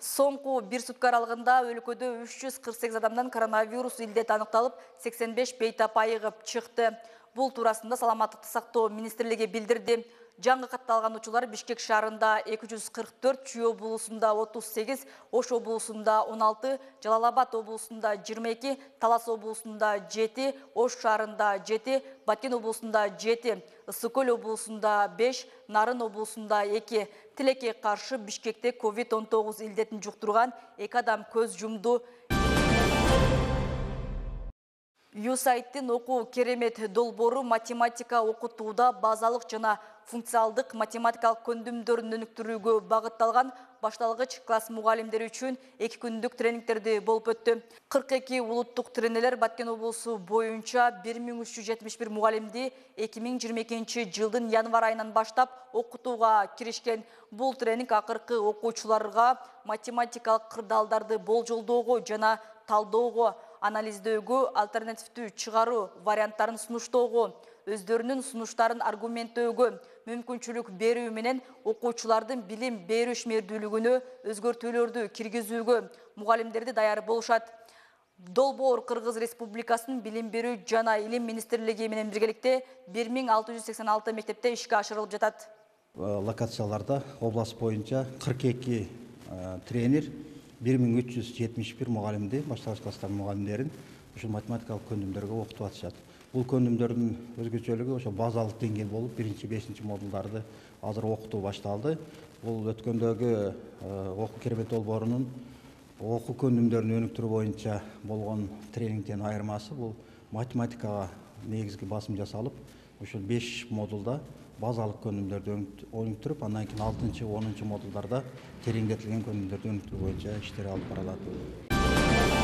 Соңку bir сутка аралыгында өлкөдө 348 адамдан коронавирус илдет аныкталып, 85 бейтап айыгып чыкты. Бул туурасында Саламаттыкты сактоо министрлиги билдирди. Жаңы катталган учурлар Бишкек шаарында 244, Чүй облусунда 38, Ош облусунда 16, Жалал-Абад облусунда 22, Талас облусунда 7, Ош шаарында 7, Баткен облусунда 7, Ысык-Көл облусунда 5, Нарын облусунда 2. Тилекке каршы Бишкекте COVID-19 илдетин жуктурган 2 адам көз жумду. USAID-тин окуу керемет долбоору математика окутууда базалык жана функциалдык математикалык көндүмдөрүн өнүктүрүүгө багытталган башталгыч класс мугалимдери үчүн 2 күндүк тренингтерди болуп өттү. 42 улуттук тренерлер Баткен облусу боюнча 1371 мугалимди 2022 жылдын январь айынан баштап окутууга киришкен. Бул тренинг акыркы окуучуларга математикалык кырдаалдарды болжолдоого жана талдоого, анализдөөгө, альтернативдүү чыгаруу варианттарын сунуштоого, өздөрүнүн сунуштарын аргументтөөгө мүмкүнчүлүк берүү менен окуучулардын билим берүү ишмердүүлүгүнө өзгөртүүлөрдү киргизүүгө мугалимдерди даяр болушат. Долбоор Кыргыз Республикасынын билим берүү жана илим министрлиги менен биргеликте 1686 мектепте ишке ашырылып жатат. Локацияларда область боюнча 42 тренер 1371 мугалимди, башталгыч класстар мугалимдерин ушул математикалык көндүмдөргө окутуп атышат. Бул көндүмдөрдүн өзгөчөлүгү ошо базалык деңгээл болуп, 1-5 модулдарды азыр окутуу башталды. Бул өткөндөгү окуу керемет долбоорунун окуу көндүмдөрүн өнүктүрүү боюнча болгон тренингден айырмасы бул математикага негизги басым жасалып, ушул 5 модулда базалык көндүмдөрдү өнүктүрүп, андан кийин 6-10 модулдарда тереңдетилген көндүмдөрдү өнүктүрүү боюнча иштер алып барылат.